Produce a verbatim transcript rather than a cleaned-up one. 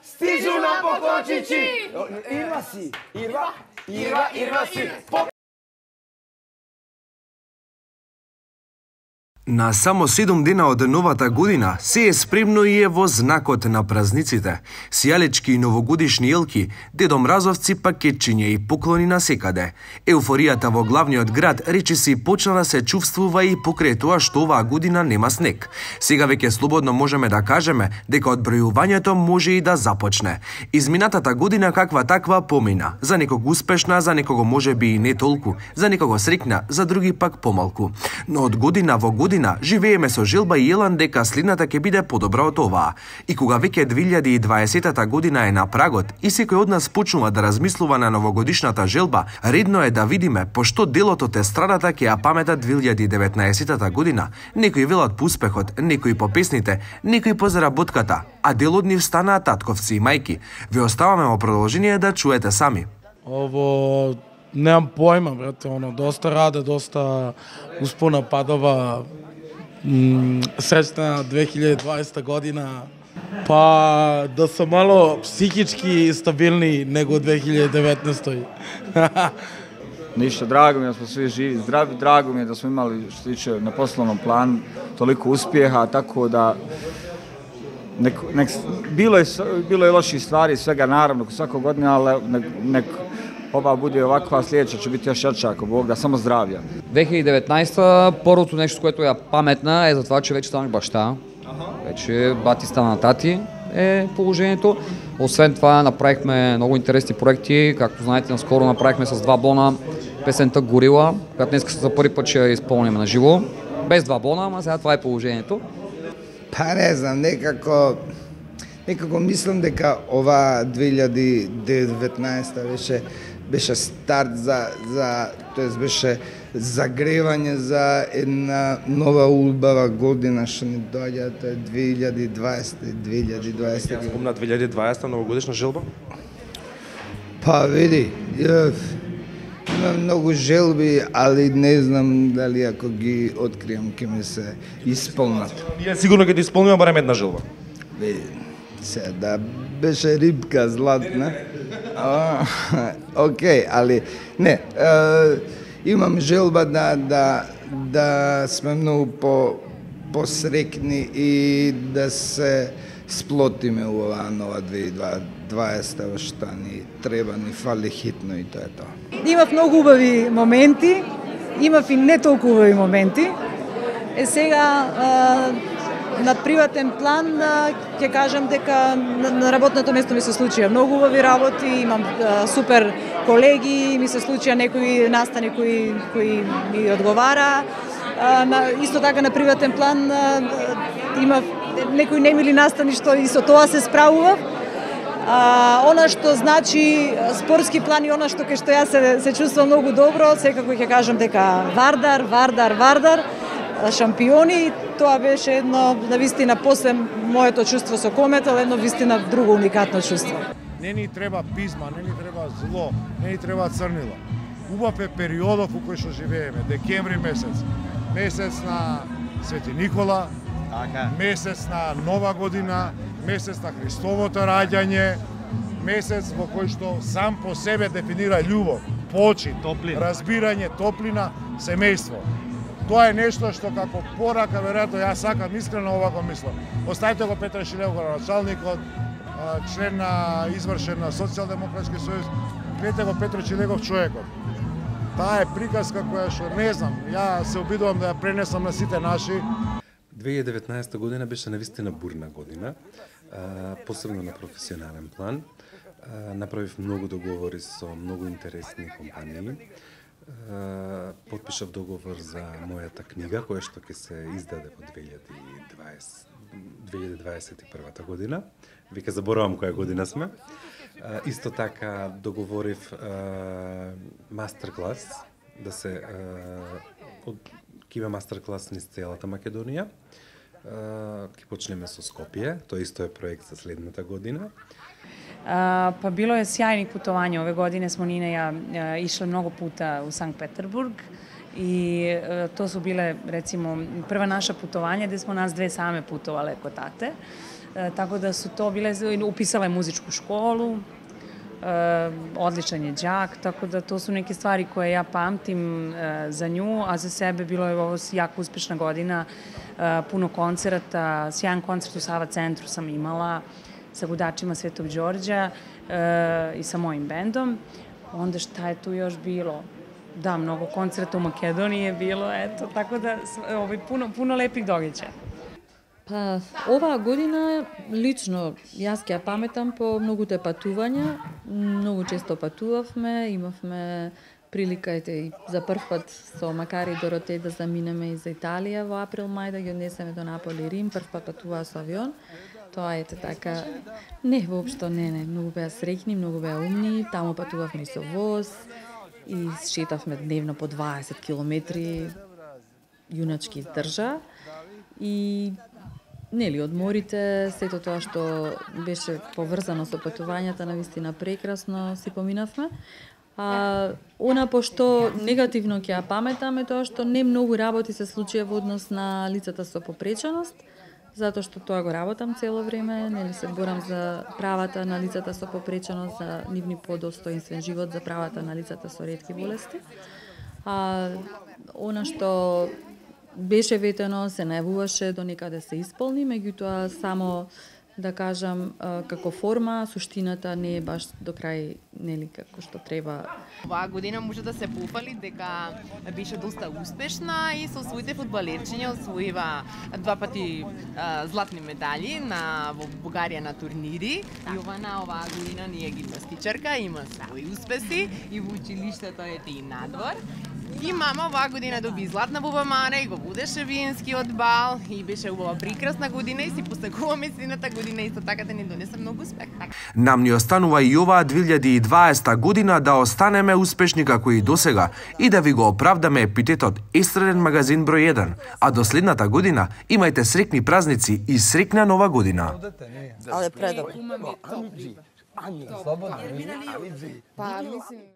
Stižu nam pokočići! Irva si! Irva! Irva! Irva si! На само седум дена од новата година се е спремно и е во знакот на празниците. Сијалечки и новогодишни елки, Дедо Мразовци, пакетчиња и поклони насекаде. Еуфоријата во главниот град речиси почна да се чувствува и покрај тоа што оваа година нема снег. Сега веќе слободно можеме да кажеме дека одбројувањето може и да започне. Изминатата година каква таква помина. За некого успешна, за некого можеби и не толку, за некого среќна, за други пак помалку. Но од година во година живееме со желба и елан дека следната ќе биде подобра од оваа. И кога веќе две илјади и дваесета година е на прагот и секој од нас почнува да размислува на новогодишната желба, редно е да видиме пошто делот од естрадата ќе ја памета две илјади и деветнаесета година. Некои велат по успехот, некои по песните, некои по заработката, а дел од нив станаа татковци и мајки. Ве оставаме во продолжение да чуете сами. Ово немам појма, брате, оно доста раде, доста успона падова. Среќна две илјади и дваесета година, па да се мало психички стабилни него две илјади и деветнаесета. Ништо, драго ми е да сме сви живи, здрави, драго ми е да сме имали, што се тиче на посlovnom плану, толико успjeha, tako da nek, nek, bilo, je, bilo je loših stvari, svega naravno, svako godine, ali nek, nek ova bude ovakva, sljedeća će biti još jača, ako Bog da, само здравје. две илјади и деветнаесета првото нешто което ја паметна е за това, че веќе станах башта. Веќе бати стана тати е положението. Освен това направихме много интересни проекти, както знаете, наскоро направихме с два бона песента Горила, която днес за първи път ще я изпълним на живо. Без два бона, ама сега това е положението. Па не знам, некако некако мислам дека ова две илјади и деветнаесета беше беше старт за за тоест беше загревање за една нова убава година што ни доаѓа, тоа е две илјади и дваесета две илјади и дваесета. Спомна две илјади и дваесета новогодишна желба? Па види, имам многу желби, али не знам дали ако ги откријам ќе ми се исполнат. Ние сигурно ќе ти исполниме барем една желба. Види, се да беше рибка златна. Океј, али не, е, имам желба да да да сме многу по посрекни и да се сплотиме у оваа нова две илјади и дваесета, што ни треба, ни фали хитно и тоа е тоа. Имав многу убави моменти, имав и не толку убави моменти. Е сега на приватен план ќе кажам дека на работното место ми се случија многу убави работи, имам супер колеги, ми се случија некои настани кои кои ми одговара. Исто така на приватен план имав некои немили настани што и со тоа се справував. А, она што значи спортски план и она што кај што јас се, се чувствувам многу добро, секако ќе кажам дека Вардар, Вардар, Вардар, шампиони, тоа беше едно, навистина, после моето чувство со Кометал, едно вистина друго уникатно чувство. Не ни треба пизма, не ни треба зло, не ни треба црнило. Убав е периодов у кој што живееме, декември месец, месец на Свети Никола, месец на Нова година, месец на Христовото раѓање, месец во кој што сам по себе дефинира љубов, почит, топлина, разбирање, топлина, семејство. Тоа е нешто што како порака, веројатно, јас сакам искрено овако мислам. Оставите го Петар Шилев, началникот, член на извршен на Социјалдемократски сојуз, гледате го Петро Чилегов човекот. Таа е приказка која што не знам, ја се обидувам да ја пренесам на сите наши. две илјади и деветнаесета година беше навистина бурна година, посебно на професионален план. Направив многу договори со многу интересни компании. Потпишав договор за мојата книга, која што ќе се издаде во две илјади дваесет и прва година. Веќе заборавам која година сме. Исто така договорив мастер-клас, да се ќе има мастер-клас низ целата Македонија. Ќе почнеме со Скопје, тоа исто е проект за следната година. Uh, pa bilo je sjajnih putovanja. Ove godine smo Nina i ja uh, išle mnogo puta u Sankt Peterburg i uh, to su bile, recimo, prva naša putovanja gde smo nas dve same putovale kod tate. Tako da su to bile, upisala je muzičku školu, odličan je đak, tako da to su neke stvari koje ja pamtim za nju, a za sebe bilo je ovo jako uspešna godina, puno koncerata, sjajan koncert u Sava centru sam imala sa gudačima Svetog Đorđa i sa mojim bendom. Onda šta je tu još bilo? Da, mnogo koncerta u Makedoniji je bilo, eto, tako da ovaj, puno, puno lepih događaja. Па, оваа година, лично, јас ќе ја паметам по многуте патувања. Многу често патувавме, имавме прилика и за прв пат со Макари и Доротеј да заминеме и за Италија во април-мај, да ги однесеме до Наполи и Рим. Прв пат патуваа со авион. Тоа ете така, не, воопшто не, не, многу беа среќни, многу беа умни. Таму патувавме и со воз и шетавме дневно по дваесет километри, јуначки издржа. И нели, одморите, сето тоа што беше поврзано со патувањата, навистина прекрасно си поминавме. А, она пошто негативно ќе ја паметам е тоа што не многу работи се случија во однос на лицата со попреченост, затоа што тоа го работам цело време, нели се борам за правата на лицата со попреченост, за нивни подостоинствен живот, за правата на лицата со ретки болести. А, она што беше ветено, се најавуваше до некаде се исполни, меѓутоа само да кажам како форма, суштината не е баш до крај, нели, како што треба. Оваа година може да се пофали дека беше доста успешна и со своите фудбалерчиња освоива два пати а, златни медали на во Бугарија на турнири. И ова на оваа година ние гимнастичарка има своји успеси и во училиштето ете и надвор. И мама оваа година доби златна бубамара и го водеше виенскиот бал и беше убава прекрасна година и си посакуваме сината година исто така да ни донесе многу успех. Нам ни останува и оваа две илјади и дваесета година да останеме успешни како и досега и да ви го оправдаме епитетот естраден магазин број еден. А до следната година имајте среќни празници и среќна нова година. Але предобро. Ани, слободно. Па, мислим...